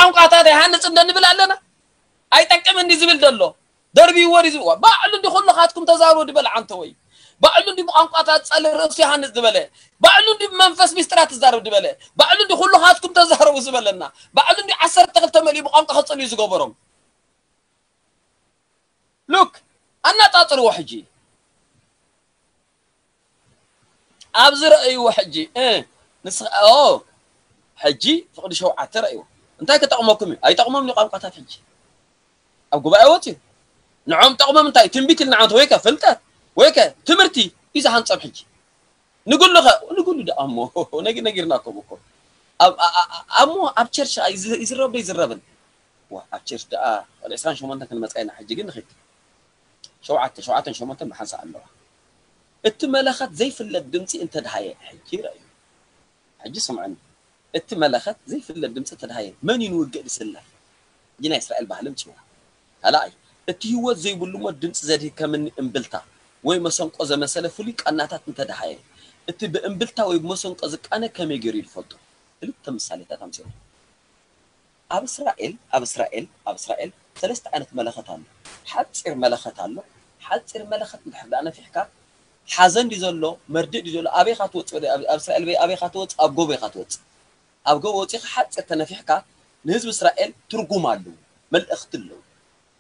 ቋንቋታት ኣይሃንጽ እንደ ንብል ኣለና። ኣይጠቅም እንዲ ዝብል ዘሎ ደርቢዎ ድዩ ዝብዋ? ባዕሉ እንዲ ኩልኻትኩም ተዛሩ ድበለ ዓንተ ወይ። ባዕሉ እንዲ ብቋንቋታት ጸለ ርእሱ ይሃንጽ ዝበለ። ባዕሉ እንዲ ብመንፈስ ሚስጥራት ትዛረብ ድበለ። ባዕሉ እንዲ ኩልኻትኩም ተዛረቡ ዝበለና። ባዕሉ እንዲ ዓሰርተ ክልተ መሊኡ ብቋንቋ ክጽልዩ ዝገበሮም። ሉክ፣ ኣነጻጽርዎ ሕጂ። ኣብዚ ረእይዎ ሕጂ። እ፣ ንስ-፣ ኦ፣ ሕጂ ፍቕዲ ሸውዓተ ረእይዎ። እንታይ ክጠቕመኩም እዩ? ኣይጠቕሞም እዩ ቋንቋታት ሕጂ። ኣብ ጉባኤ ወፅዩ። ንዖም ጠቕሞም እንታይ? ትንቢት ኢልና ዓንተ ወይ ከ ፍልጠት ወይ ከ ትምህርቲ እዩ ዝሃንፀም ሕጂ። ንጉሉ ኸ፣ ንጉሉ ደኣ እሞ፣ ነጊ-፣ ነጊርናኩም እኮ። ኣብ፣ ኣ-፣ ኣ-፣ ኣ-፣ እሞ ኣብ ቸርች ኣይ-፣ ይዝ-፣ ይዝረብ ዶ ይዝረብን? ዋ፣ ኣብ ቸርች ደኣ፣ ወደ ዕስራን ሸሞንተን ክንመጻ ኢና፣ ሕጂ ግን ንኺድ። ሸውዓተ፣ ሸውዓተን ሸሞንተን ብሓንሳእ ኣለዋ። እቲ መለኸት ዘይፍለጥ ድምጺ እንተድሃየ፣ ሕጂ ረእዩ። ሕጂ ስምዑኒ። እቲ መለኸት ዘይፍለጥ ድምጺ እንተድሃየ፣ መን እዩ ንውግእ ዝስለፍ? ሕጂ ናይ እስራኤል ባህሊ ምጽዋ። ካልኣይ፣ እቲ ህይወት ዘይብሉ እሞ ድምጺ ዘድሂ ከም እኒ እምብልታ ወይ መሰንቆ ዘመሰለ ፍሉይ ቃናታት እንተድሃየ፣ እቲ ብእምብልታ ወይ ብመሰንቆ ዝቃነ ከመይ ገይሩ ይፈልጦ? ክልተ ምሳሌታት ኣምጺኦም። ኣብ እስራኤል፣ ኣብ እስራኤል፣ ኣብ እስራኤል ሰለስተ ዓይነት መለኸት ኣሎ። ሓጺር መለኸት ኣሎ። ሓጺር መለኸት እንድሕር ደኣ ነፊሕካ፣ ሓዘን ድዩ ዘሎ፣ መርድእ ድዩ ዘሎ፣ ኣበይ ኢኻ ትወጽእ? ወደ-፣ ኣብ፣ ኣብ እስራኤል በይ-፣ ኣበይ ኢኻ ትወጽእ? ኣብ ጎቦ ኢኻ ትወጽእ። ኣብ ጎቦ ወጺእካ ሓጺር ተነፊሕካ፣ ንህዝቢ እስራኤል ትርጉም ኣለዎ፣ መልእኽቲ ኣለዎ።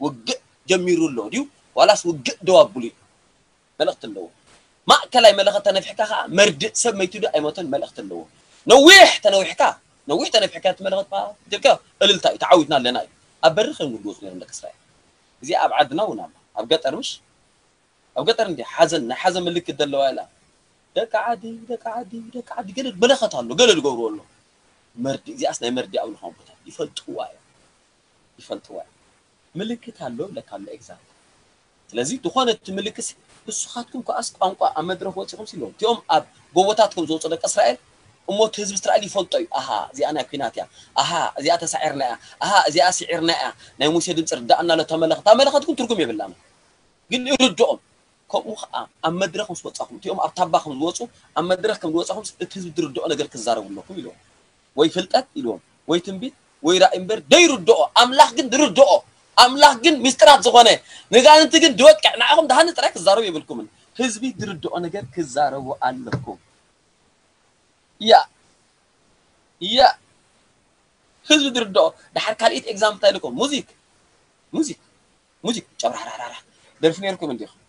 ውግእ ጀሚሩ ኣሎ ድዩ? ዋላስ ውግእ ደው ኣብሉ እዩ? መልእኽቲ ኣለዎ። ማእከላይ መለኸት ተነፊሕካ ኸዓ መርድእ፣ ሰብ መይቱ ዶ ኣይሞተን፣ መልእኽቲ ኣለዎ። ነዊሕ ተነዊሕካ፣ ነዊሕ ተነፊሕካ እቲ መለኸት ፓ-፣ ትልካ እልልታ እዩ፣ ተዓዊትና ኣለና እዩ። ኣብ በሪ ከም ዝወፁ ነይሮም ደቂ እስራኤል። እዚ ኣብ ዓድና እውን ኣሎ። ኣብ ገጠር ምሽ? ኣብ ገጠር እንዲ ሓዘን፣ ናይ ሓዘን ምልክት ዘለዋ ኢላ። ደቂ ዓዲ፣ ደቂ ዓዲ፣ ደቂ ዓዲ፣ ገለ መለኸት ኣሎ፣ ገለ ዝገብርዎ ኣሎ። መርድእ፣ እዚኣስ ናይ መርድእ ኣብ ዝኾነ ቦታ ይፈልጥዋ እዮም። ይፈልጥዋ እዮም። ምልክት ኣሎ ይብለካ ኣሎ ኤግዛምፕል። ስለዚ ዝኾነ እቲ ምልክት ንስኻትኩም ከኣስ ቋንቋ ኣብ መድረኽ ወፂኹም ሲሎም እቲኦም ኣብ ጎቦታት ከም ዝወፁ ደቂ እስራኤል እሞ እቲ ህዝቢ እስራኤል ይፈልጦ እዩ። ኣሃ፣ እዚኣ ናይ ኲናት እያ። ኣሃ፣ እዚኣ ተሳዒርና እያ። ኣሃ፣ እዚኣ ስዒርና እያ። ናይ ሙሴ ድምፂ ርዳእና ኣሎ ተመለኸት። እታ መለኸት ግን ትርጉም የብላን። ግን ይርድኦም። ከምኡ ኸዓ ኣብ መድረኽ ምስ ወፃኹም፣ እቲኦም ኣብ ታባ ከም ዝወፁ፣ ኣብ መድረኽ ከም ዝወፃኹም እቲ ህዝቢ ዝርድኦ ነገር ክዛረቡ ኣለኩም ኢልዎም። ወይ ፍልጠት ኢልዎም፣ ወይ ትንቢት፣ ወይ ራእይ እምበር ደይርድኦ። ኣምላኽ ግን ዝርድኦ፣ ኣምላኽ ግን ሚስጥራት ዝኾነ፣ ንጋንንቲ ግን ድወቅዕ፣ ንዓኹም ድሃኒ ጥራይ ክዛረቡ የብልኩምን። ህዝቢ ዝርድኦ ነገር ክዛረቡ ኣለኩም። ያ፣ ያ፣ ህዝቢ ዝርድኦ። ድሓር ካልኢት ኤግዛምፕል እንታይ ኢልኩም? ሙዚክ፣ ሙዚክ፣ ሙዚክ፣ ጨብራራራራ። ደርፊ ነይርኩም እንዲኹም?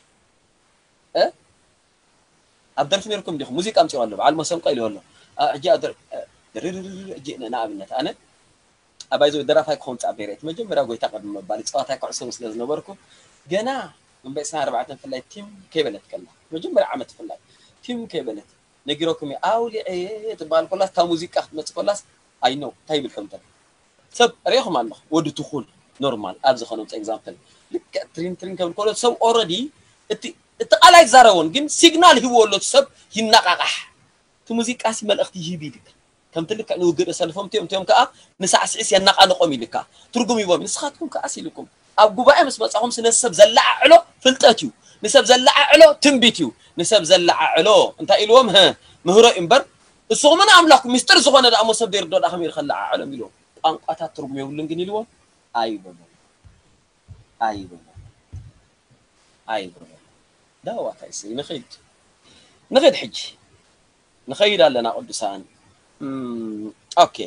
እ? ኣብ ደርፊ ነይርኩም እንዲኹም? ሙዚቃ ኣምጺኦ ኣሎ፣ በዓል መሰንቆ ኢሉ ኣሎ። ኣ፣ ሕጂ ኣብ ደር-፣ እ፣ ድርርርር፣ ሕጂ ን-፣ ንኣብነት፣ ኣነ፣ ኣ፣ ባይዘወይ ደራፋይ ክኸውን ጻዕበ ነይረ። እቲ መጀመርያ ጎይታ ቅድሚ ምባል፣ ጸዋታይ ኩዕሶ ስለ ዝነበርኩ፣ ገና እምበይ ዕስራን ኣርባዕተን ፍላይ ቲም ከይበለት ከላ፣ መጀመርያ ዓመት ፍላይ፣ ቲም ከይበለት፣ ነጊረኩም እየ፣ ኣውሊዐ እየ ትበሃል ኮላስ፣ እታ ሙዚቃ ክትመጽእ ኮላስ፣ ኣይ ኖ፣ እንታይ ይብል ከም ዘሎ። ሰብ ርኢኹም ኣለኹም፣ ወዲ ትኹል፣ ኖርማል፣ ኣብ ዝኾነ ኤግዛምፕል፣ ልክዕ ትሪን ትሪን ከብል ከሎ፣ ሰብ ኦረዲ፣ እቲ፣ እቲ ቃል ኣይዛረቦን፣ ግን ሲግናል ሂብዎ ኣሎ፣ እቲ ሰብ ይነቓቓሕ። እቲ ሙዚቃ ሲ መልእኽቲ ይህብ ኢልካ። ከምቲ ልክዕ ንውግእ ዘሰልፎም እቲኦም፣ እቲኦም ከኣ ንሳዕስዒስ የነቓንቖም ኢልካ። ትርጉም ሂቦም። ንስኻትኩም ከኣስ ኢልኩም። ኣብ ጉባኤ ምስ መጻኹም ሲ ነቲ ሰብ ዘለዓዕሎ ፍልጠት እዩ። ንሰብ ዘለዓዕሎ ትንቢት እዩ። ንሰብ ዘለዓዕሎ እንታይ ኢልዎም? ህህ፣ ምህሮ እዩ እምበር፣ ንስኹምን ኣምላኽኩም ሚስጥር ዝኾነ ደኣ እሞ ሰብ ዘይርድኦ ደኣ ከመይ ኢሉ ከለዓዕሎም ኢልዎም። ቋንቋታት ትርጉም የብሉን ግን ኢልዎም ኣይበሉን። ኣይበሉን። ኣይበሉን። ዳዋ እንታይ እሰይ፣ ንኸይድ። ንኸይድ ሕጂ። ንኸይድ ኣለና ቅዱሳን። እም፣ ኦኬ።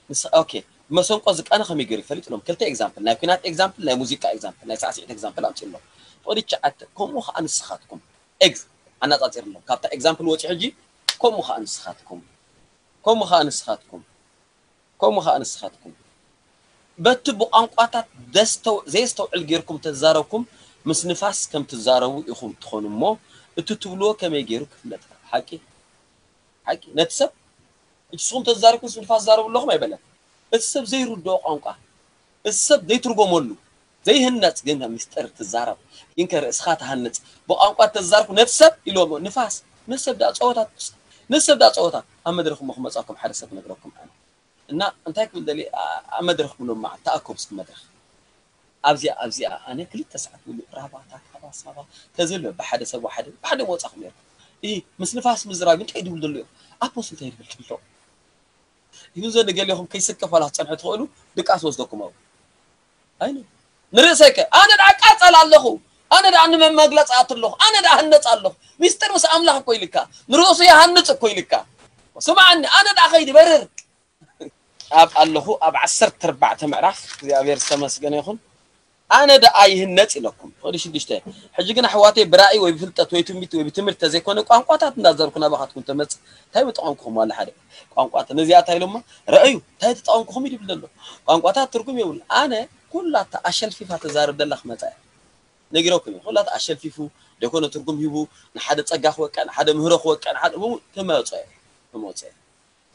ንስ-፣ ኦኬ። መሰንቆ ዝቃነ ከመይ ገይሩ ይፈልጥ ኢሎም። ክልተ ኤግዛምፕል፣ ናይ ኲናት ኤግዛምፕል፣ ናይ ሙዚቃ ኤግዛምፕል፣ ናይ ሳዕስዒት ኤግዛምፕል ኣምጺእሎም። ፍቕዲ ትሽዓተ፣ ከምኡ ኸኣ ንስኻትኩም። ኤግዝ-፣ ኣነጻጺርሎም። ካብታ ኤግዛምፕል ወጺኡ ሕጂ፣ ከምኡ ኸኣ ንስኻትኩም። ከምኡ ኸኣ ንስኻትኩም። ከምኡ ኸኣ ንስኻትኩም። በቲ ብቋንቋታት ዘስተው-፣ ዘየስተውዕል ጌርኩም ተዛረብኩም፣ ምስ ንፋስ ከም ትዛረቡ ኢኹም ትኾኑ እሞ፣ እቲ ትብልዎ ከመይ ገይሩ ክፍለጥ? ሓቂ? ሓቂ? ነቲ ሰብ፣ ንስኹም ተዛሪብኩም ምስ ንፋስ ትዛረቡ ኣለኹም ኣይበለን። እቲ ሰብ ዘይርድኦ ቋንቋ፣ እቲ ሰብ ዘይትርጎመሉ፣ ዘይህነጽ ግን ሚስጥር ትዛረብ። ግን ከ ርእስኻ ትሃንጽ። ብቋንቋ ተዛርኩ ነቲ ሰብ ኢልዎ፣ ንፋስ፣ ነቲ ሰብ ደኣ ጸወታ፣ ነቲ ሰብ ደኣ ጸወታ። ኣብ መድረኽ እሞ ክመጻኩም ሓደ ሰብ ክነግረኩም ኣነ። እና እንታይ ክብል ደልየ፣ ኣ-፣ ኣብ መድረኽ ብሎም መዓልቲ ተኣከቡ እስኪ መድረኽ። ኣብዚኣ፣ ኣብዚኣ ኣነ ክልተ ሰዓት ሙሉእ ራባታ፣ ካባ፣ ሳባ፣ ተዝብል ብሓደ ሰብ ወሓደ፣ ብሓደ ምወጻኹም ነይርኩም። እሂ፣ ምስ ንፋስ ምዝራብ እንታይ ድብል ዘሎ እዮም? ኣፖስትል እንታይ ድብል ዘሎ? ይሁን ዘንድ ገሌኹም ከይስከፍ ዋላ ክትጸንሑ ትኽእሉ ድቃስ ወስደኩም ኣው ኣይነ ንርእሰይ ከ ኣነ ደኣ ቃጸል ኣለኹ ኣነ ደኣ ንመመግለጽ ኣት ኣለኹ ኣነ ደኣ ህነጽ ኣለኹ ሚስጥር ምስ ኣምላኽ እኮ ኢልካ ንርእሱ ይሃንጽ እኮ ኢልካ ስማዓኒ ኣነ ደኣ ኸይዲ በርር ኣብ ኣለኹ ኣብ ዓሰርተ ኣርባዕተ ምዕራፍ እግዚኣብሔር ዝተመስገነ ይኹን ኣነ ደኣ ይህነጽ ኢለኩም። ፍቕዲ ሽዱሽተ ሕጂ ግን ኣሕዋተይ ብራእይ ወይ ብፍልጠት ወይ ትንቢት ወይ ብትምህርቲ ተዘይኮነ ቋንቋታት እንዳዘርኩ ናባኻትኩም ተመጽእ እንታይ ምጠቐምኩኹም ዋላ ሓደ ቋንቋ ነዚኣ እንታይ ኢሎማ ረእዩ እንታይ ተጠቐምኩኹም ይድብል ዘሎ ቋንቋታት ትርጉም የብሉ ኣነ ኩላታ ኣሸልፊፋ ተዛርብ ደላ ክመጻ እያ ነጊረኩም እየ ኩላታ ኣሸልፊፉ ደኮነ ትርጉም ሂቡ ንሓደ ጸጋ ክወቅዕ ንሓደ ምህሮ ክወቅዕ ንሓደ ክመጾ እየ ክመጾ እየ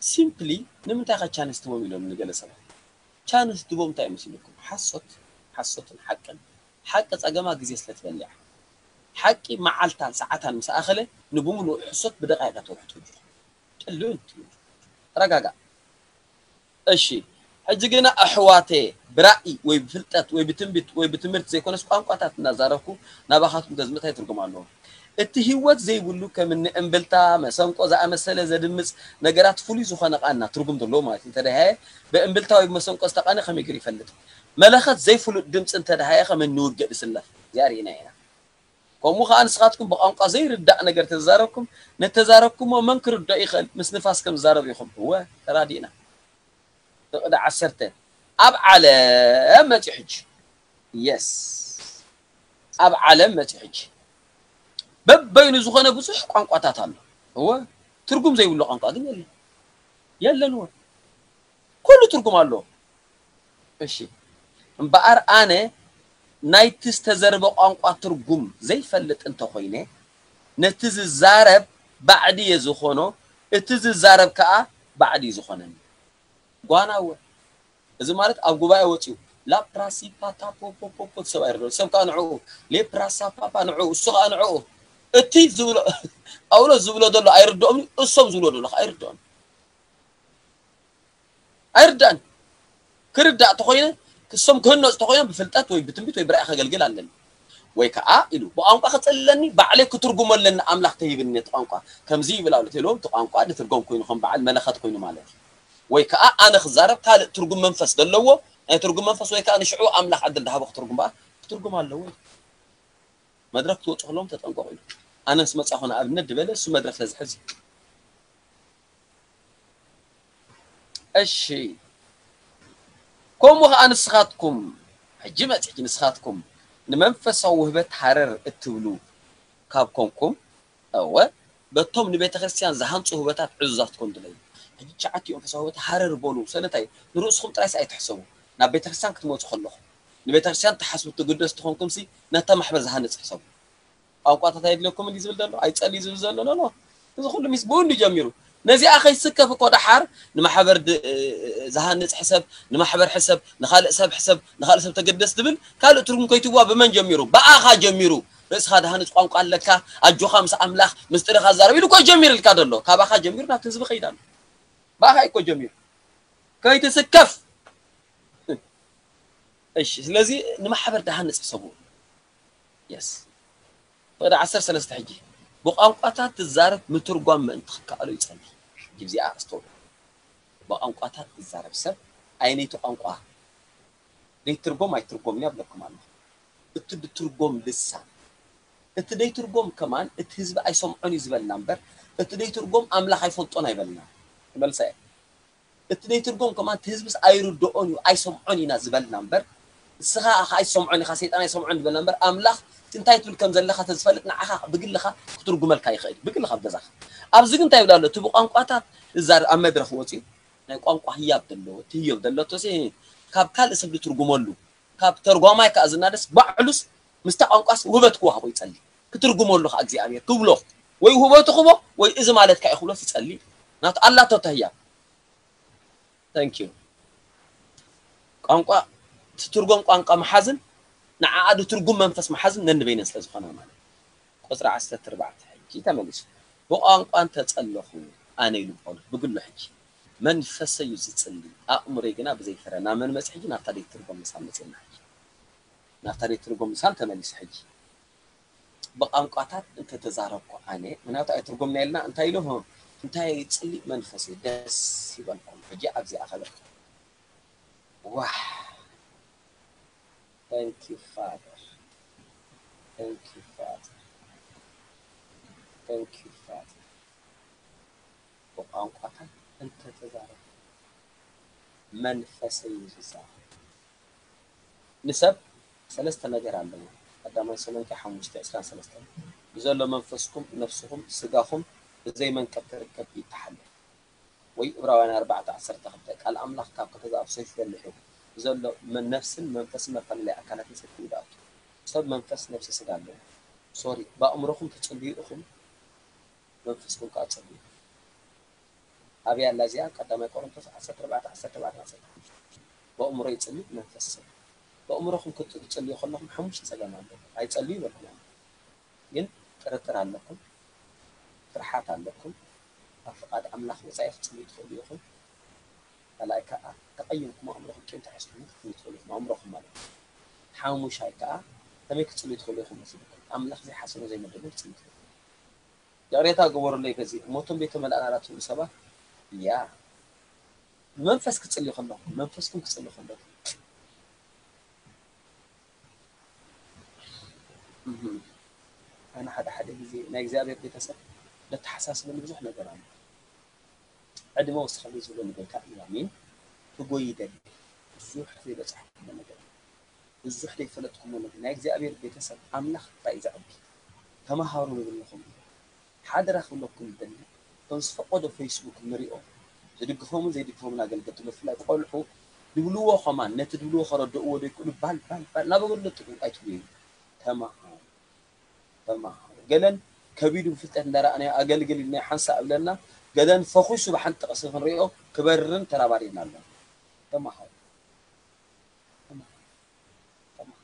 simply ንምንታይ ከ ቻንስ ትቦም ኢሎም ንገለ ሰባት ቻንስ ትቦም እንታይ መስልኩም ሓሶት ሓሶትን ሓቅን ሓቂ ጸገማ ግዜ ስለ ትበልዕ ሓቂ መዓልታን ሰዓታን ምስ ኣኸለ ንብሙሉእ ሕሶት ብደቃይቀ ተውሕጡ ጥልውን ትዩ ተረጋጋ እሺ ሕጂ ግና ኣሕዋተ ብራእይ ወይ ብፍልጠት ወይ ብትንቢት ወይ ብትምህርቲ ዘይኮነስ ቋንቋታት እናዛረብኩ ናባኻትኩም ገዝምታይ ትርጉም ኣለዎ እቲ ህይወት ዘይብሉ ከም እኒ እምብልታ፣ መሰንቆ ዝኣመሰለ ዘድምጽ ነገራት ፍሉይ ዝኾነ ቃና፣ ትርጉም ዘለዎ ማለት እዩ፣ እንተደሃየ ብእምብልታ ወይ ብመሰንቆ ዝተቃነ ከመይ ገይሩ ይፈልጥ? መለኸት ዘይፍሉጥ ድምጺ እንተደሃየ ከም እኒ ውግእ ዝስለፍ፣ እዚኣ ርኢና ኢና። ከምኡ ኸኣ ንስኻትኩም ብቋንቋ ዘይርዳእ ነገር ተዛረብኩም፣ ነተዛረብኩሞ መን ክርድኦ ይኽእል? ምስ ንፋስ ከም ዝዛረብ ኢኹም። እወ፣ ተራዲእና። ፍቕዲ ዓሰርተ ኣብ ዓለም መጺኡ ሕጂ። የስ። ኣብ ዓለም መጺኡ ሕጂ። በበይኑ ዝኾነ ብዙሕ ቋንቋታት ኣሎ። እወ፣ ትርጉም ዘይብሉ ቋንቋ ግን የለን። የለን እወ። ኩሉ ትርጉም ኣለዎ። እሺ። እምበኣር ኣነ ናይቲ ዝተዘርበ ቋንቋ ትርጉም ዘይፈልጥ እንተኾይነ፣ ነቲ ዝዛረብ ባዕዲ እየ ዝኾኖ፣ እቲ ዝዛረብ ከኣ ባዕዲ እዩ ዝኾነኒ። ጓና እወ። እዚ ማለት ኣብ ጉባኤ ወጺኡ ላፕራሲፓታፖፖፖፖ ሰብ ኣይርድኦ። ሰብ ከኣ ንዕኡ ሌፕራሳፓፓ ንዕኡ እሱ ከኣ ንዕኡ እቲ ዝብሎ ጳውሎስ ዝብሎ ዘሎ ኣይርድኦም እሶም ዝብሎ ዘሎ ከኣ ኣይርድኦም። ኣይርዳእን ክርዳእ ተኾይነ ክሶም ክህነፁ ተኾይኖም ብፍልጠት ወይ ብትንቢት ወይ ብራእይ ከገልግል ኣለኒ ወይ ከዓ ኢሉ ብቋንቋ ክፅሊ ኣለኒ ባዕለይ ክትርጉሞ ኣለኒ ኣምላኽ ተሂብኒ ነቲ ቋንቋ ከምዚ ይብል ኣሎ ተይልዎም እቲ ቋንቋ ንትርጎም ኮይኑ ከም በዓል መለኸት ኮይኑ ማለት እዩ ወይ ከዓ ኣነ ክዛረብ ካልእ ትርጉም መንፈስ ዘለዎ ናይ ትርጉም መንፈስ ወይ ከዓ ንሽዑ ኣምላኽ ዕድል ድሃቦ ክትርጉም በኣ ክትርጉም ኣለዎ መድረክ ትወፁ ከለዎም ተጠንቀቑ ኢሉ ኣነ ምስ መፃኹ ንኣብነት ድበለ እሱ መድረክ ስለዝሕዝ እዩ እሺ ከምኡ ኸዓ ንስኻትኩም ሕጂ መፂ ሕጂ ንስኻትኩም ንመንፈሳዊ ውህበት ሃረር እትብሉ ካብ ኮንኩም እወ በቶም ንቤተ ክርስቲያን ዝሃንፁ ውህበታት ዕዙዛት ትኮኑ ድለዩ ሕጂ ትሽዓቲኡ መንፈሳዊ ውህበት ሃረር በሉ ስለንታይ ንርእስኹም ጥራይስ ኣይትሕሰቡ ናብ ቤተ ክርስቲያን ክትመፁ ከለኹም ንቤተ ክርስቲያን ትሓስቡ ትግደሱ ትኾንኩም ሲ ነታ ማሕበር ዝሃንፅ ሕሰቡ ቋንቋታት ኣየድልየኩምን ድዩ ዝብል ዘሎ? ኣይጸልዩ ዝብል ዘሎ ኖ ኖ። እዚ ኩሉ ሚስ ብኡ እንድዩ ጀሚሩ። ነዚኣ ከይስከፍ እኮ ደሓር ንማሕበር ዝሃንጽ ሕሰብ፣ ንማሕበር ሕሰብ፣ ንኻልእ ሰብ ሕሰብ፣ ንኻልእ ሰብ ተገደስ ዝብል ካልእ ትርጉም ከይትዋ ብመን ጀሚሩ? ብኣኻ ጀሚሩ። ርእስኻ ድሃንጽ ቋንቋ ኣለካ፣ ኣጆኻ ምስ ኣምላኽ ምስጢርኻ ዛረብ ኢሉ እኮ ጀሚርልካ ዘሎ። ካባኻ ጀሚሩ ናብቲ ህዝቢ ከይድ ኣሎ። ብኣኻ እዩ እኮ ጀሚሩ። ከይትስከፍ እሺ ስለዚ ንማሕበር ድሃንጽ ሕሰቡ yes ወደ ዓሰርተ ሰለስተ ሕጂ ብቋንቋታት ትዛረብ ምትርጓም ምእንቲ ክከኣሎ ይጸሊ ሕጂ እዚኣ ኣስተውሉ ብቋንቋታት ትዛረብ ሰብ ኣይነይቲ ቋንቋ ዘይትርጎም ኣይትርጎም እያ ብለኩም ኣለኹ እቲ ድትርጎም ልሳን እቲ ዘይትርጎም ከማን እቲ ህዝቢ ኣይሰምዖን እዩ ዝበልና እምበር እቲ ዘይትርጎም ኣምላኽ ኣይፈልጦን ኣይበልና መልሳ እየ እቲ ዘይትርጎም ከማን እቲ ህዝብስ ኣይርድኦን እዩ ኣይሰምዖን ኢና ዝበልና እምበር ንስኻ ኣኻ ኣይሰምዖን ኢኻ ሰይጣን ኣይሰምዖን ዝበልና እምበር ኣምላኽ እቲ እንታይ ትብል ከም ዘለኻ ተዝፈልጥ ንዓኻ ብግልኻ ክትርጉመልካ ይኽእል ብግልኻ ኣብ ገዛኻ ኣብዚ ግን እንታይ ይብል ኣሎ እቲ ብቋንቋታት ዝዛረብ ኣብ መድረኽ ወፂኡ ናይ ቋንቋ ህያብ ዘለዎ እቲ ህዮብ ዘለቶ ሲ ካብ ካልእ ሰብ ዝትርጉመሉ ካብ ተርጓማይ ከዓ ዝናደስ ባዕሉስ ምስታ ቋንቋስ ውህበት ክወሃቦ ይጸሊ ክትርጉመሉ ከዓ እግዚኣብሔር ክብሎ ወይ ውህበቱ ክቦ ወይ እዚ ማለትካ እዩ ክብሎስ ይጸሊ ናቱ ኣላቶ ተህያ thank you ቋንቋ ትትርጎም ቋንቋ መሓዝን ንዓኣ ትርጉም መንፈስ መሓዝን ነንበይነን ስለ ዝኾና ማለት ቁፅሪ ዓሰርተ ኣርባዕተ ሕጂ ተመሊሱ ብቋንቋ እንተፀለኹ ኣነ ኢሉ ጳውሎስ ብግሉ ሕጂ መንፈሰይ እዩ ዝፅሊ ኣእምሮይ ግና ብዘይ ፍረ ናብ መን መፅ ሕጂ ናብታ ደይ ትርጎም ምሳል መፅና ሕጂ ናብታ ደይ ትርጎም ምሳል ተመሊሱ ሕጂ ብቋንቋታት እንተተዛረብኩ ኣነ ምክንያቱ ኣይትርጎምና የልና እንታይ ኢሉ እንታይ ይጽሊ መንፈስ እዩ ደስ ይበልኩም። ሕጂ ኣብዚኣ ከበል ዋሕ። Thank you, Father. Thank you, Father. Thank you, Father. ብቋንቋታት እንተተዛረብ መንፈሰይ እዩ ዝዛረብ። ንሰብ ሰለስተ ነገር ኣለዎ። ቀዳማይ ተሰሎንቄ ሓሙሽተ ዕስራን ሰለስተን ብዘሎ መንፈስኩም፣ ነፍስኹም፣ ስጋኹም ብዘይ መንቀብ ክርከብ ይተሓለ። ወይ ዕብራውያን ኣርባዕተ ዓሰርተ ክልተ ቃል ኣምላኽ ካብ ከተዛብ ሰይፍ በሊሑ ብዘሎ መ-፣ ነፍስን መንፈስን መፈላለይ ኣካላትን ሰይፍ ይድኣቱ። ሰብ መንፈስ፣ ነፍሲ፣ ስጋ ኣለዎ። ሶሪ፣ ብኣእምሮኹም ትጽልዩ ኢኹም፣ መንፈስኩም ከኣ ጸልዩ። ኣብያ ኣላ እዚኣ ቀዳማይ ቆሮንቶስ ዓሰርተ ኣርባዕተ ዓሰርተ ኣርባዕተ ዓሰርተ ሓሙሽተ። ብኣእምሮ ይጽሊ መንፈስ ሰብ። ብኣእምሮኹም ክትጽልዩ ከለኹም ሓሙሽተ ጸገም ኣሎ። ኣይጸልዩ ይበልኩም። ግን ጥርጥር ኣለኩም፣ ፍርሓት ኣለኩም። ኣብ ፍቓድ ኣምላኽ ወጻኢ ክትጽልዩ ትኽእሉ ኢኹም። ካልኣይ ከኣ ተቐይምኩም ኣእምሮኹም ቂም ተሒዝኩም ክትጽልዩ ትኽእሉ ኢኹም። ኣእምሮኹም ማለት እዩ። ሓሙሻይ ከኣ ከመይ ክትጽልዩ ትኽእሉ ኢኹም መሲልኩም። ኣምላኽ ዘይሓሰቦ ዘይመደቦ ክትጽልዩ ትኽእሉ። ይቕሬታ ግበሩለይ በዚ ሞቶም ቤተ መላእና ትብሉ ሰባት እያ። ብመንፈስ ክትጽልዩ ከለኹም፣ መንፈስኩም ክትጽልዩ ከለኹም። እህም። ኣነ ሓደ ሓደ ግዜ ናይ እግዚኣብሔር ቤተሰብ ለተሓሳስበኒ ብዙሕ ነገር ኣሎ። ዕድመ ወስኸለይ ዝብለኒ ጎይታ እዩ። ኣሜን። ክጎይ ይደሊ። ብዙሕ ዘይበጻሕኩሞ ነገር፣ ብዙሕ ዘይፈለጥኩሞ ነገር። ናይ እግዚኣብሔር ቤተሰብ ኣምላኽ ጥራይ እዩ ዘዕቢ። ተማሃሩ ንብለኹም። ሓደራ ክብለኩም ይደሊ። እቶም ዝፈቀዶ ፌስቡክ ንሪኦ። ዝድግፎምን ዘይድግፎምን ኣገልገልቲ፣ ብፍላይ ቆልዑ ድብልዎ ከማን፣ ነቲ ድብልዎ ከረድእዎ ዘይክእሉ ባል፣ ባል፣ ባል እናበሉ ለጥጡ ኣይትብሉ። ተማሃሩ። ተማሃሩ። ገለን ከቢዱ ብፍልጠት እንዳረኣናዮ ኣገልግል ኢልና ሓንሳእ እብለና፣ ገለን ፈኹሱ ብሓንቲ ጥቕሲ ክንሪኦ ክበርርን ተራባሪና ኣሎ። ተማሃሩ። ተማሃሩ። ተማሃሩ።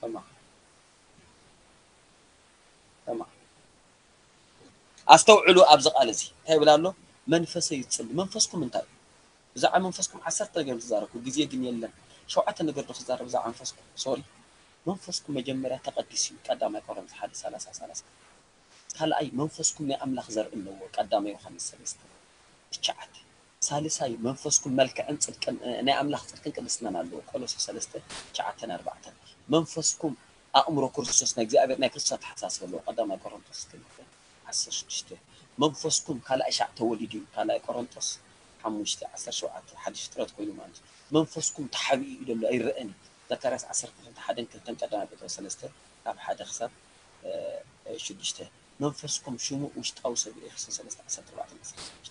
ተማሃሩ። ተማሃሩ። ኣስተውዕሉ ኣብዚ ቃል እዚ። እንታይ ይብል ኣሎ? መንፈሰይ ይጽሊ። መንፈስኩም እንታይ እዩ? ብዛዕባ መንፈስኩም ዓሰርተ ነገር ዝዛረብኩ፣ ግዜ ግን የለን። ሸውዓተ ነገር ዶ ክዛረብ ብዛዕባ መንፈስኩም? ሶሪ። መንፈስኩም መጀመርያ ተቐዲሱ እዩ። ቀዳማይ ቆሮንቶስ ሓደ ሰላሳ ሰላሳ። ካልኣይ መንፈስኩም ናይ ኣምላኽ ዘርኢ ኣለዎ። ቀዳማይ ዮሃንስ ሰለስተ ትሽዓተ። ሳልሳይ መንፈስኩም መልክዕን ጽድቅን፣ እ፣ ናይ ኣምላኽ ጽድቅን ቅድስናን ኣለዎ። ቆሎሴ ሰለስተ ትሽዓተን ኣርባዕተን። መንፈስኩም ኣእምሮ ክርስቶስ ናይ እግዚኣብሔር ናይ ክርስቶስ ኣተሓሳስባ ኣለዎ። ቀዳማይ ቆሮንቶስ ክልተ ዓሰርተ ሽዱሽተ። መንፈስኩም ካልኣይ ሻዕ ተወሊዱ እዩ። ካልኣይ ቆሮንቶስ ሓሙሽተ ዓሰርተ ሸውዓተ ሓድሽ ፍጥረት ኮይኑ ማለት እዩ። መንፈስኩም ተሓቢኡ እዩ ዘሎ ኣይረኣን እዩ። ዘካርያስ ዓሰርተ ክልተ ሓደን ክልተን ቀዳማይ ጴጥሮስ ሰለስተ ካብ ሓደ ክሳብ፣ እ፣ ሽዱሽተ። መንፈስኩም ሽሙ ውሽጣዊ ሰብ እዩ። ኤፌሶን ሰለስተ ዓሰርተ ኣርባዕተ ዓሰርተ ሽዱሽተ።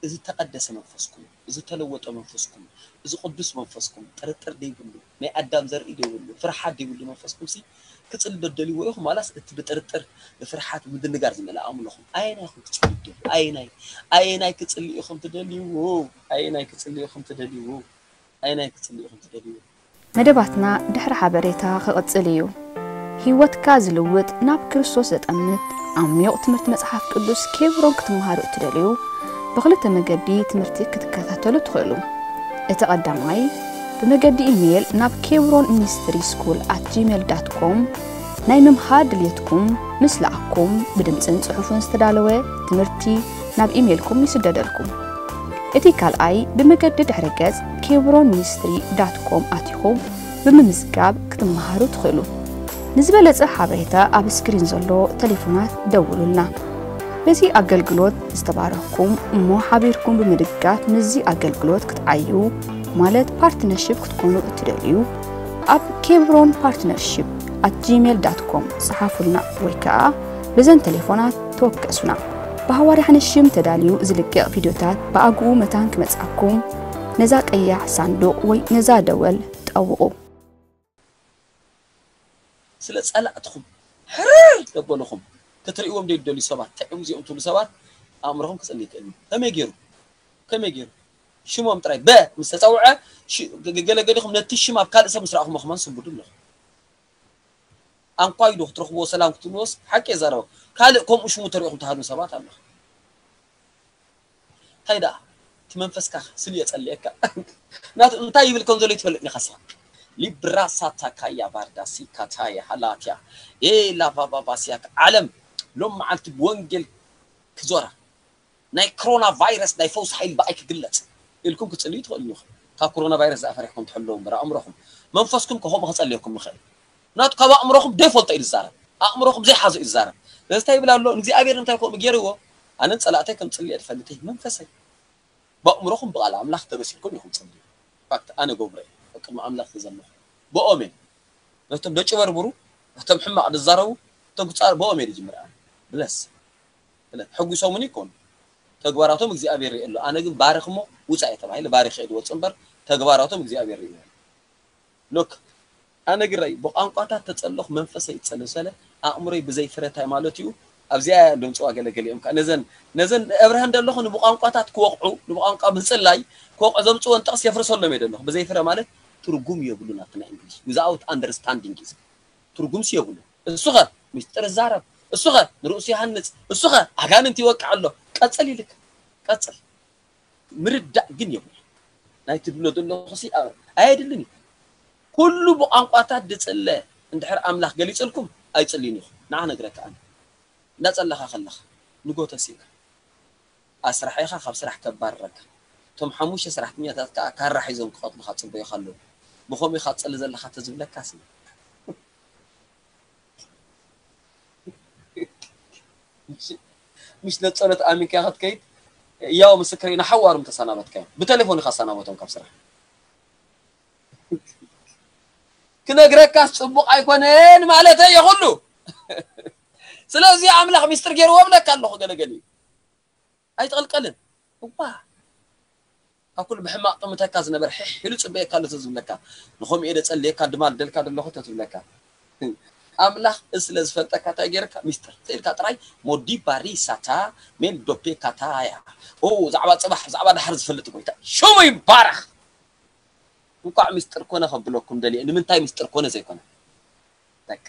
እዚ ተቐደሰ መንፈስኩም፣ እዚ ተለወጠ መንፈስኩም፣ እዚ ቅዱስ መንፈስኩም፣ ጥርጥር ዘይብሉ፣ ናይ ኣዳም ዘርኢ ዘይብሉ፣ ፍርሓት ዘይብሉ መንፈስኩም ሲ ክጽሊ ዶ ትደልይዎ ኢኹም? ዋላስ እቲ ብጥርጥር፣ ብፍርሓት፣ ምድንጋር ዝመልኣ ኣእምሮኹም? ኣየናይ ኢኹም ክጽሊ ትደልዩ? ኣየናይ? ኣየናይ ክጽሊ ኢኹም ትደልይዎ? ኣየናይ ክጽሊ ኢኹም ትደልይዎ? ኣየናይ ክጽሊ ኢኹም ትደልይዎ? መደባትና ድሕሪ ሓበሬታ ክቕጽል እዩ። ህይወትካ ዝልውጥ፣ ናብ ክርስቶስ ዘጠምት ዓሚቕ ትምህርቲ መጽሓፍ ቅዱስ ኬብሮን ክትመሃሩ እትደልዩ፣ ብኽልተ መገዲ ትምህርቲ ክትከታተሉ ትኽእሉ። እቲ ቀዳማይ፣ ብመገዲ ኢሜይል ናብ ኬብሮን ሚኒስትሪ ስኩል ኣት ጂሜል ዳት ኮም ናይ ምምሃር ድልየትኩም ምስ ለኣኩም፣ ብድምጽን ጽሑፍን ዝተዳለወ ትምህርቲ ናብ ኢሜይልኩም ይስደደልኩም። እቲ ካልኣይ፣ ብመገዲ ድሕረ ገጽ ኬብሮን ሚኒስትሪ ዳት ኮም ኣቲኹም ብምምዝጋብ ክትመሃሩ ትኽእሉ። ንዝበለጸ ሓበሬታ ኣብ ስክሪን ዘሎ ቴሌፎናት ደውሉልና። በዚ ኣገልግሎት ዝተባረኽኩም እሞ ሓቢርኩም ብምድጋፍ ምስዚ ኣገልግሎት ክትዓዩ፣ ማለት ፓርትነርሺፕ ክትኮኑ እትደልዩ፣ ኣብ ኬብሮን ፓርትነርሺፕ ኣት ጂሜል ዳት ኮም ጸሓፉልና ወይ ከኣ በዘን ቴሌፎናት ተወከሱና። ብሃዋርያ ሓንሽም ተዳልዩ ዝልቀቕ ቪድዮታት ብኣግኡ መታን ክመጽኣኩም ነዛ ቀያሕ ሳንዱቕ ወይ ነዛ ደወል ጠውቑ። ስለ ጸላእትኹም ሕርር ዘበልኹም ክትርእይዎም ዘይትደልዩ ሰባት፣ ጥዕም እዚኦም ትብሉ ሰባት ኣእምሮኹም ክጽሊ ይክእል እዩ። ከመይ ገይሩ? ከመይ ገይሩ? ሽሞም ጥራይ በ ምስ ተጸውዐ፣ ሽ-፣ ገ-፣ ገ-፣ ገለ ገዲኹም ነቲ ሽም ኣብ ካልእ ሰብ ምስ ረኣኹሞ ከማን ስንቡዱ ኣለኹም። ኣንኳይ ዶ ክትረኽብዎ ሰላም ክትብልዎስ ሓቂ የዛረበ። ካልእ ከምኡ ሽሙ ተሪእኹም ትሃድሙ ሰባት ኣለኹም። እንታይ ደኣ? እቲ መንፈስካ ስል የጸልየካ። ናቱ እንታይ ይብል ከም ዘሎ ይትፈልጥ ኢኻ ሳ። ሊብራ ሳታ ካያ ባርዳ ሲካ ታየ ሃላትያ። ኤ ላቫ ባባ ሲያክ ዓለም ሎም መዓልቲ ብወንጌል ክዞራ፣ ናይ ኮሮና ቫይረስ ናይ ፈውሲ ሓይሊ ብኣይ ክግለጽ ኢልኩም ክጽልዩ ትኽእሉ ኢኹም። ካብ ኮሮና ቫይረስ ዝኣፈሪሕኩም ትሕልዉ እምበር ኣእምሮኹም፣ መንፈስኩም ከምኡ ክጸልየኩም ይኽእል። ምክንያቱ ካብ ኣእምሮኹም ዘይፈልጦ እዩ ዝዛረብ፣ ኣእምሮኹም ዘይሓዞ እዩ ዝዛረብ። ስለዚ እንታይ ይብል ኣሎ እግዚኣብሔር? እንታይ ከምኡ ገይርዎ? ኣነን ጸላእተይ ከም ጽልየ ትፈልጥ እየ መንፈሰይ። ብኣእምሮኹም ብቓል ኣምላኽ ተመሲልኩም ኢኹም ጽልዩ። ፋክት ኣነ ገብረ እየ ኣብ ቅድሚ ኣምላኽ ተዘመኹ። ብኦም እየ ነቶም ደጭበርብሩ፣ ነቶም ሕማቕ ዝዛረቡ፣ ነቶም ክጻር ብኦም እየ ዝጅምር። ኣነ ብለስ ብለስ ሕጉሶምኒ ይኮኑ፣ ተግባራቶም እግዚኣብሔር ይርኢ ኣሎ። ኣነ ግን ባርኽ እሞ ውፃእ እየ ተባሂለ ባሪኸ እየ ዝወፅእ እምበር ተግባራቶም እግዚኣብሔር ይርኢ ኣሎ። ሎክ ኣነ ግረይ ብቋንቋታት ተጸለኹ መንፈሰይ ይጸልም ሰለ ኣእምሮይ ብዘይ ፍረ እንታይ ማለት እዩ? ኣብዚኣ እያ ደምጽዋ ገለገሊኦም ከኣ ነዘን ነዘን ኣብርሃ እንደለኹ ንብቋንቋታት ክወቕዑ ንብቋንቋ ምጽላይ ክወቕዑ ዘምጽወን ጥቕስ የፍርሰሎም እየ ደለኹ። ብዘይ ፍረ ማለት ትርጉም የብሉን ኣብቲ ናይ እንግሊዝ without understanding is ትርጉምሲ የብሉን። እሱኸ ምስጢር ይዛረብ፣ እሱኸ ንርእሱ ይሃንጽ፣ እሱኸ ኣጋንንት ይወቅዕ ኣሎ። ቀጽል ኢልክ ቀጽል። ምርዳእ ግን የብሉ ናይ ትብሎ ዘለኹ ሲ ኣየድልን እዩ። ኩሉ ብቋንቋታት ድጽለ እንድሕር ኣምላኽ ገሊጽልኩም ኣይጽልዩን ኢኹም። ንዓ ነግረካ ኣነ እንዳጸለኻ ከለኻ ንጎተስ ኢልካ ኣስራሒኻ ካብ ስራሕ ከባርረካ እቶም ሓሙሽተ ሰራሕተኛታት ከዓ ካራ ሒዞም ክቐትሉኻ ጽበዩኻ ኣለዉ። ብኸምኡ ኢኻ ትጸሊ ዘለኻ ተዝብለካ ሲ ምሽ ነጸሎት ኣሚንካ ክትከይድ ያው ምስክር ኢና ሓዋሩም ተሰናበትካዮም ብቴሌፎን ኢኻ ሰናበቶም ካብ ስራሕ ክነግረካስ ጽቡቕ ኣይኮነን ማለት እየ ኩሉ ስለዚ ኣምላኽ ሚስጥር ገይርዎ ብለካ ኣለኹ ገለገሊ ኣይትቕልቀልን እዋ ካብ ኩሉ ብሕማቕ ጥምተካ ዝነበር ሕሕ ኢሉ ጽበየካ ኣሎ ተዝብለካ ንኸምኡ እየ ደጸልየካ ድማ ደልካ ደለኹ ተትብለካ ኣምላኽ እዚ ስለ ዝፈልጠካ እንታይ ገይርካ ሚስጥር ኢልካ ጥራይ ሞዲ ባሪ ሳታ ሜል ዶፔ ካታያ ኦ ዛዕባ ጽባሕ ዛዕባ ድሓር ዝፈልጥ ጎይታ ሽሙ ይባረኽ እንኳዕ ሚስጥር ኮነ ከብለኩም ደልየ ንምንታይ ሚስጥር ኮነ ዘይኮነ በቃ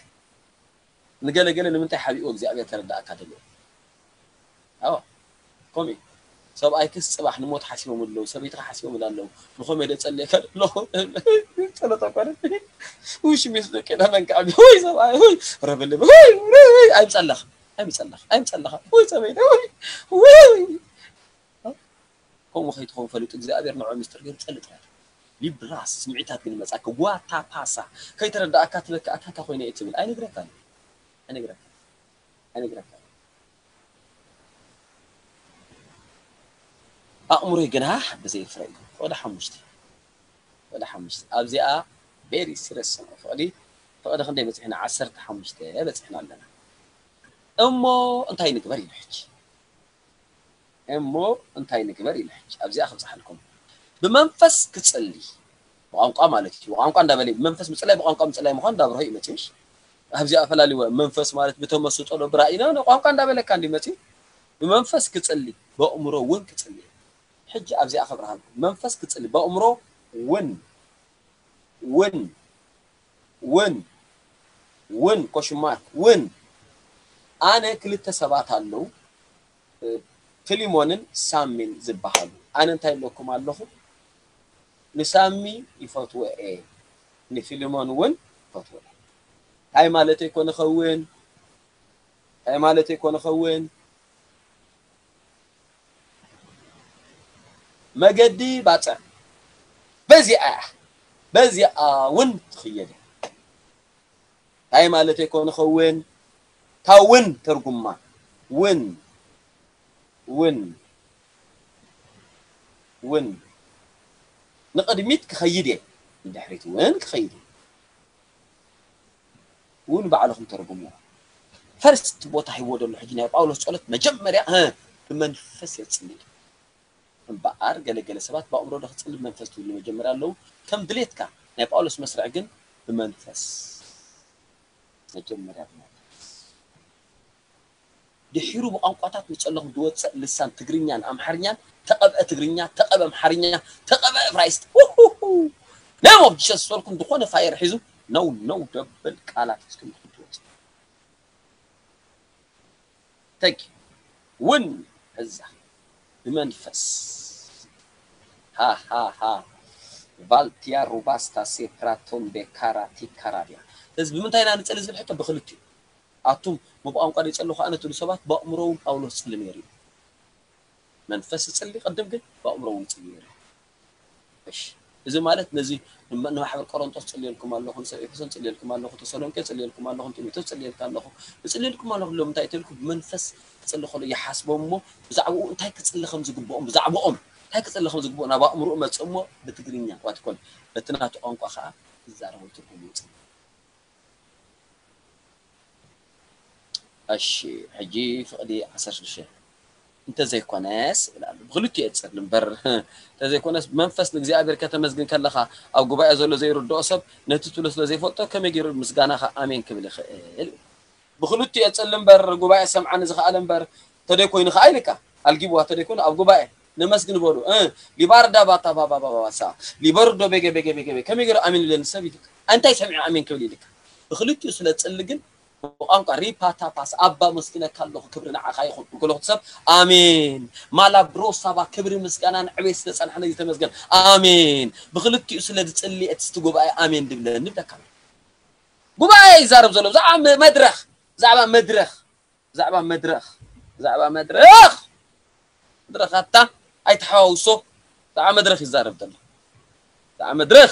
ንገለገለ ንምንታይ ሓቢእዎ እግዚኣብሔር ከረዳእካ ደልየ ኣዎ ከምኡ እዩ ሰብኣይክስ ፅባሕ ንሞት ሓሲቦም ኣለዉ ሰበይትኻ ሓሲቦም ኣለዉ ንኸም የደ ጸልየካ ኣለኹ ጸሎት ኣቋረጥ ውሽ ሚስ ደቂ ለመንካ ዓቢ ወይ ሰብኣይ ወይ ረብልብ ወይ ኣይምጸለኽ ኣይምጸለኽ ኣይምጸለኻ ወይ ሰበይተ ወይ ወይ ከምኡ ከይትኸውን ፈሊጡ እግዚኣብሔር ንዑ ሚስጥር ገይሩ ጸሊ ጥራይ ሊብራስ ስምዒታት ግን መጻካ ጓታ ፓሳ ከይተረዳእካ ትበካ ኣታታ ኮይነ እየ ትብል ኣይነግረካን ኣይነግረካን ኣይነግረካን ኣእምሮይ ግና ብዘይ ፍረ እዩ። ወደ ሓሙሽተ ወደ ሓሙሽተ ኣብዚኣ very serious ነው። ፍቕዲ ፍቕዲ ክንደይ በፂሕና? ዓሰርተ ሓሙሽተ በፂሕና ኣለና። እሞ እንታይ ንግበር ኢሉ ሕጂ እሞ እንታይ ንግበር ኢሉ ሕጂ ኣብዚኣ ክብፅሓልኩም ብመንፈስ ክፅሊ ብቋንቋ ማለት እዩ። ብቋንቋ እንዳበለ ብመንፈስ ምፅላይ ብቋንቋ ምፅላይ ምኳን እንዳብርሆ እዩ መፅሽ ኣብዚኣ ፈላሊወ መንፈስ ማለት ብተመስጦ ዶ ብራእይና ቋንቋ እንዳበለካ እንዲ መፅዩ ብመንፈስ ክፅሊ በእምሮ እውን ክፅሊ ሕጂ ኣብዚኣ ከብርሃልኩም መንፈስ ክፅሊ በእምሮ እውን እውን እውን እውን ኮሽማር እውን ኣነ ክልተ ሰባት ኣለዉ ፊሊሞንን ሳሚን ዝበሃሉ ኣነ እንታይ ኣለኩም ኣለኹ ንሳሚ ይፈትዎ እየ ንፊሊሞን እውን ይፈትዎ እየ እንታይ ማለተይ ኮነ ኸውን እንታይ ማለተይ ኮነ ኸውን መገዲ ባፅዕ በዚኣ እያ በዚኣ እውን ትኽየድ እያ እንታይ ማለተይ ኮነ ኸውን እታ እውን ተርጉማ እውን እውን እውን ንቕድሚት ክኸይድ እየ ንድሕሪት እውን ክኸይድ እየ እውን ባዕልኹም ተርጉምዎ ፈርስት ቦታ ሂቦ ዘሎ ሕጂ ናይ ጳውሎስ ጸሎት መጀመርያ ብመንፈስ የጽሊ እምበኣር ገለገለ ሰባት ብኣእምሮ ዶ ክጽሊ ብመንፈስ ትብሉ መጀመርያ ኣለዉ ከም ድሌትካ ናይ ጳውሎስ መስርዕ ግን ብመንፈስ መጀመርያ ብመንፈስ ድሒሩ ብቋንቋታት ንጸለኹም ዝወጽእ ልሳን ትግርኛን ኣምሓርኛን ተቐብአ ትግርኛ ተቐብአ ኣምሓርኛ ተቐብአ እብራይስጥ ናይ ሞብ ጂሰስ ዝበልኩም ዝኾነ ፋየር ሒዙ ነው ነው ደብል ቃላት ሒዝኩም ትወጽእ ተግ ውን እዛ ብመንፈስ ሃሃሃ ቫልቲያ ሩባስታ ሴፕራቶን ቤካራ ቲካራድያ እዚ ብምንታይ ኢና ንጸሊ ዝብል ሕቶ ብክልቲኡ ኣቱም ብቋንቋ ዘይጸለኹ ኣነ ትብሉ ሰባት ብኣእምሮ እውን ጳውሎስ ጸሊ ነይሩ እዩ መንፈስ ይጽሊ ቅድም ግን ብኣእምሮ እውን ይጽሊ ነይሩ። እሺ፣ እዚ ማለት ነዚ ንመ- ንማሕበር ቆሮንቶስ ጽልየልኩም ኣለኹ፣ ንሰብ ኤፌሶን ጽልየልኩም ኣለኹ፣ ተሰሎንቄ ጽልየልኩም ኣለኹ፣ ንጢሞቴዎስ ጽልየልካ ኣለኹ፣ ንጽልየልኩም ኣለኹ ኢሎም እንታይ ተልኩ ብመንፈስ ክጽሊ ከሎ ይሓስቦም እሞ ብዛዕባኡ እንታይ ክጽሊ ከም ዝግብኦም ብዛዕባኦም እንታይ ክጽሊ ከም ዝግብኦ ናብ ኣእምሮኡ መጽእ እሞ ብትግርኛ ዋትኮን በቲ ናቱ ቋንቋ ከዓ ዝዛረቦ ትርጉም ይውጽእ። እሺ፣ ሕጂ ፍቕዲ ዓሰርተ ሽዱሽተ እንተዘይኮነስ ይብል ኣሎ። ብኽልቲኡ እየ ዝጸልም እምበር እንተዘይኮነስ መንፈስ ንእግዚኣብሔር ከተመስግን ከለኻ ኣብ ጉባኤ ዘሎ ዘይርድኦ ሰብ ነቲ ትብሎ ስለ ዘይፈልጦ ከመይ ገይሩ ምስጋናኻ ኣሜን ክብል ይኽእል? ብኽልቲኡ እየ ዝጸልም እምበር ጉባኤ ሰምዓኒ ዝኸኣለ እምበር ተደይ ኮይኑ ኸዓ ኢልካ ኣልጊብዋ ተደይ ኮይኑ ኣብ ጉባኤ ነመስግን በሉ እ ሊባርዳ ባታ ባባባባሳ ሊበርዶ ቤገ ቤገ ቤገ ቤ ከመይ ገይሩ ኣሜን ይብለኒ ሰብ ኢልካ እንታይ ሰሚዑ ኣሜን ክብል ኢልካ ብኽልቲኡ ስለ ዝጽሊ ግን ብቋንቋ ሪፓታፓስ ኣባ መስግነካ ኣለኹ ክብሪ ንዓኻ ይኹን እንከሎ ሰብ ኣሜን ማላ ብሮሳባ ክብሪ ምስጋናን ዕቤት ስለ ጸንሐ ነዚ ተመስገን ኣሜን ብኽልቲኡ ስለ ዝጽሊ እቲ ስቲ ጉባኤ ኣሜን ድብለኒ ብለካ ጉባኤ ይዛረብ ዘሎ ብዛዕባ መ- መድረኽ ብዛዕባ መድረኽ ብዛዕባ መድረኽ ብዛዕባ መድረኽ መድረኻታ ኣይተሓዋውሶ ብዛዕባ መድረኽ ይዛረብ ዘሎ ብዛዕባ መድረኽ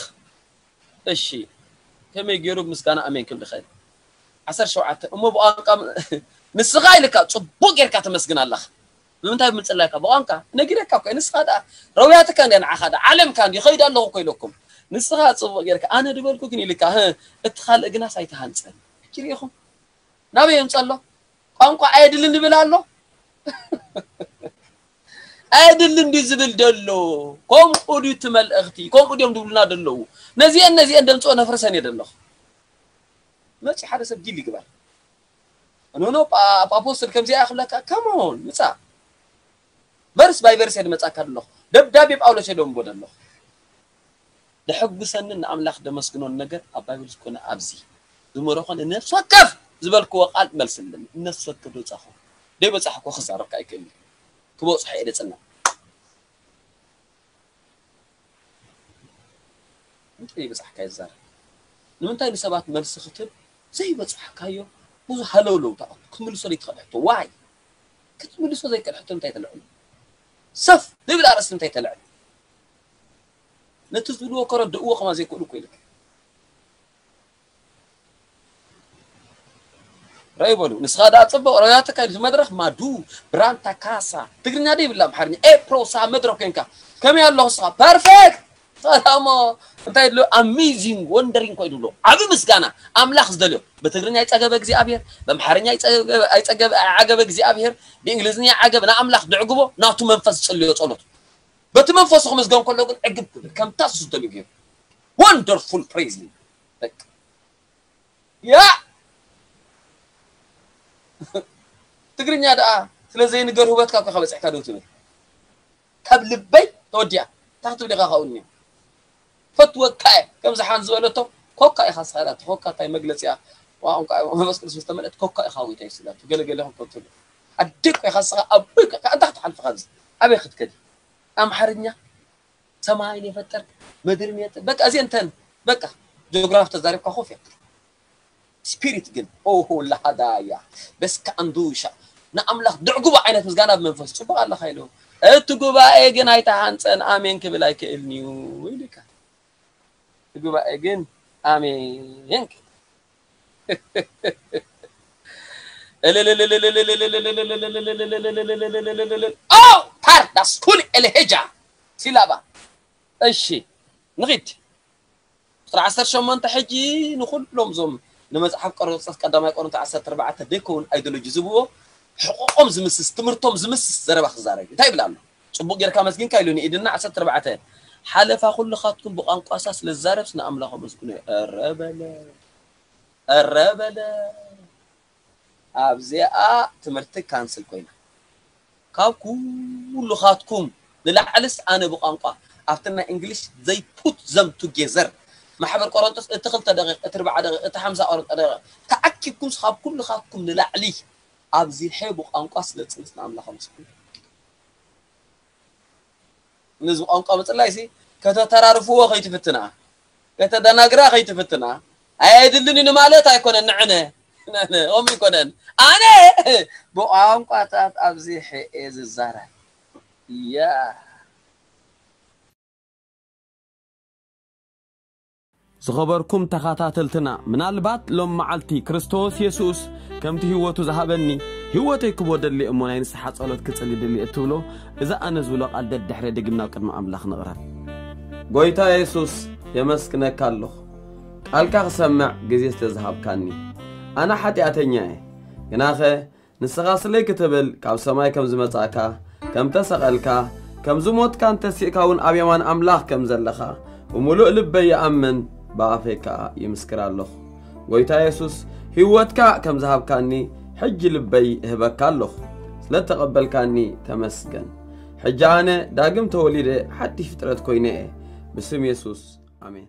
እሺ ከመይ ገይሩ ምስጋና ኣሜን ክብል ይኽእል ዓሰርተ ሸውዓተ እሞ ብቋንቋ ንስኻ ኢልካ ጽቡቅ ጌርካ ተመስግን ኣለኻ ንምንታይ ብምጽላይካ ብቋንቋ ነጊረካ እኮ ንስኻ ደኣ ረውያትካ እንዲያ ንዓኻ ደኣ ዓለምካ እንዲ ኸይድ ኣለኹ እኮ ኢለኩም ንስኻ ጽቡቅ ጌርካ ኣነ ድበልኩ ግን ኢልካ ህ እቲ ካልእ ግናስ ኣይተሃንጸን ሕጂ ርኢኹም ናበይ የምጸሎ ቋንቋ ኣየድልን ይብል ኣሎ ኣየድልን ድዩ ዝብል ደሎ ከምኡ ድዩ እቲ መልእኽቲ ከምኡ ድዮም ዝብሉና ደለዉ ነዚአን ነዚአን ደምፅኦ ነፍርሰን እየ ደለኹ መፂ ሓደ ሰብ ዲል ይግበር ኖኖ ኣፖስትል ከምዚኣ ክብለካ ከሞን ምፃ ቨርስ ባይ ቨርስ እየ ድመፃካ ደለኹ ደብዳቤ ጳውሎስ እየ ደንቦ ደለኹ ደሐጉሰንን ንኣምላኽ ደመስግኖን ነገር ኣብ ባይብል ዝኾነ ኣብዚ ዝመረኾን ነፍሲ ወከፍ ዝበልክዎ ቃል መልስልን ነፍሲ ወከፍ ደውፃኹ ደይበፃሕኮ ክዛረብካ ኣይክእል ክበፅሖ እየ ደፅና እንታይ ይበፃሕካ ይዛረብ ንምንታይ ንሰባት መልሲ ክትብ ዘይበፃሕካዮ ብዙ ሃለውለው ክትምልሶ ዘይትኽእል ሕቶ ዋይ ክትምልሶ ዘይክእል ሕቶ እንታይ ተልዕሉ ሰፍ ዝብል ኣርእስቲ እንታይ ተልዕሉ ነቲ ዝብልዎ ከረድእዎ ከማ ዘይክእሉ እኮ ኢልካ ረይ በሉ ንስኻ ደኣ ጽቡቕ ረያትካ ኢሉ መድረኽ ማዱ ብራንታ ካሳ ትግርኛ ዶ ይብላ ኣምሓርኛ ኤ ፕሮሳ መድረኽ ኮንካ ከመይ ኣለኹ ስኻ ፐርፌክት ሰላሞ እንታይ ድሎ ኣሜዚንግ ወንደሪንግ ኮይ ድሎ ዓቢ ምስጋና ኣምላኽ ዝደልዮ ብትግርኛ ይጸገበ እግዚኣብሔር በምሓርኛ ይጸገበ ኣይጸገበ ዓገበ እግዚኣብሔር ብእንግሊዝኛ ዓገብ ንኣምላኽ ድዕግቦ ናቱ መንፈስ ዝጽልዮ ጸሎት በቲ መንፈሱ ክምዝገን ከሎ ግን ዕግብ ክብል ከምታ እሱ ዝደልዮ ገይሩ ወንደርፉል ፕሬዝ በቃ ያ ትግርኛ ደኣ ስለ ዘይንገር ህበትካ እኮ ከበፅሕካ ደው ትብል ካብ ልበይ ተወዲኣ እንታይ ክትብል ኢኻ ካብኡኒ ፈትወካ እየ ከምዚ ሓን ዝበለቶ ኮካ ኢኻ ስኻ ኢላቶ ኮካ እንታይ መግለፂ እያ ቋንቋ መንፈስ ቅዱስ ምስ ተመልአት ኮካ ኢኻ ጎይታ የሱስ ኢላቶ ገለገለ ከም ትብል ኣደይ እኮ ኢኻ ስኻ ኣቦይ እኮ ኢኻ እንታይ ክትሓልፍ ኢኻ ኣብዚ ኣበይ ክትከዲ ኣምሓርኛ ሰማይን የፈጠርክ ምድርን የፈጠርክ በቃ እዚአን ተን በቃ ጂኦግራፊ ተዛሪብካ ኮፍ እያ ስፒሪት ግን ኦሆ ላሃዳያ በስካ ኣንዱሻ ንኣምላኽ ድዕጉባ ዓይነት ምስጋና ብመንፈስ ጽቡቕ ኣለኻ ኢሉ እቲ ጉባኤ ግን ኣይተሃንጸን ኣሜን ክብል ኣይክእልን እዩ ኢሉካ እቲ ጉባኤ ግን ኣሜን ክብል ፓርዳስኩል ኤልሄጃ ሲላባ እሺ ንኺድ ቁፅሪ ዓሰርተ ሸሞንተ ሕጂ ንኹሎም እዞም ንመፅሓፍ ቆሮንቶስ ቀዳማይ ቆሮንቶ ዓሰርተ ኣርባዕተ ደይከውን ኣይዶሎጂ ዝብዎ ሕቆቆም ዝምስስ ትምህርቶም ዝምስስ ዘረባ ክዛረብ እዩ እንታይ ይብል ኣሎ ፅቡቅ ጌርካ መስጊንካ ኢሉ ንኢድና ዓሰርተ ኣርባዕተ ሓለፋ ኩልኻትኩም ብቋንቋሳ ስለ ዝዛረብስ ንኣምላኽ ኣመስግኖ እዩ ኧረ በለ ኧረ በለ ኣብዚኣ ትምህርቲ ካንስል ኮይና ካብ ኩሉኻትኩም ንላዕልስ ኣነ ብቋንቋ ኣብቲ ናይ እንግሊሽ they put them together ማሕበር ቆሮንቶስ እቲ ክልተ ደቂቕ እቲ ርብዓ ደቂቕ እቲ ሓምሳ ቆሮንቶ ደቂቕ ተኣኪብኩምስ ካብ ኩሉኻትኩም ንላዕሊ ኣብዚሐ ብቋንቋ ስለ ዝፅንስ ንኣምላኽ ኣመስግኑ ነዚ ቋንቋ ምፅላይሲ ከተተራርፍዎ ከይትፍትና ከተደናግራ ከይትፍትና ኣየድልን እዩ ንማለት ኣይኮነን ንዕነ ከምኡ ይኮነን ኣነ ብቋንቋታት ኣብዚሐ እየ ዝዛረብ Yeah. ዝኸበርኩም ተኸታተልትና፣ ምናልባት ሎም መዓልቲ ክርስቶስ የሱስ ከምቲ ህይወቱ ዝሃበኒ፣ ህይወተይ ክቦ ደሊ እሞ ናይ ንስሓ ጸሎት ክጽሊ ደሊ እትብሎ፣ እዛ ኣነ ዝብሎ ቃል ደድሕረ ደጊም ናብ ቅድሚ ኣምላኽ ንቕረብ። ጎይታ የሱስ፣ የመስግነካ ኣለኹ፣ ቃልካ ክሰምዕ ግዜ ስለ ዝሃብካኒ። ኣነ ሓጢኣተኛ እየ፣ ግናኸ ንስኻ ስለይ ክትብል ካብ ሰማይ ከም ዝመጻእካ፣ ከም ተሰቐልካ፣ ከም ዝሞትካን ተሲእካ እውን ኣብ የማን ኣምላኽ ከም ዘለኻ ብምሉእ ልበይ ይኣምን፣ ብኣፈይ ከኣ ይምስክር ኣለኹ። ጎይታ የሱስ፣ ህይወትካ ከም ዝሃብካኒ ሕጂ ልበይ እህበካ ኣለኹ። ስለ እተቐበልካኒ ተመስገን። ሕጂ ኣነ ዳግም ተወሊደ ሓድሽ ፍጥረት ኮይነ እየ። ብስም የሱስ፣ ኣሜን።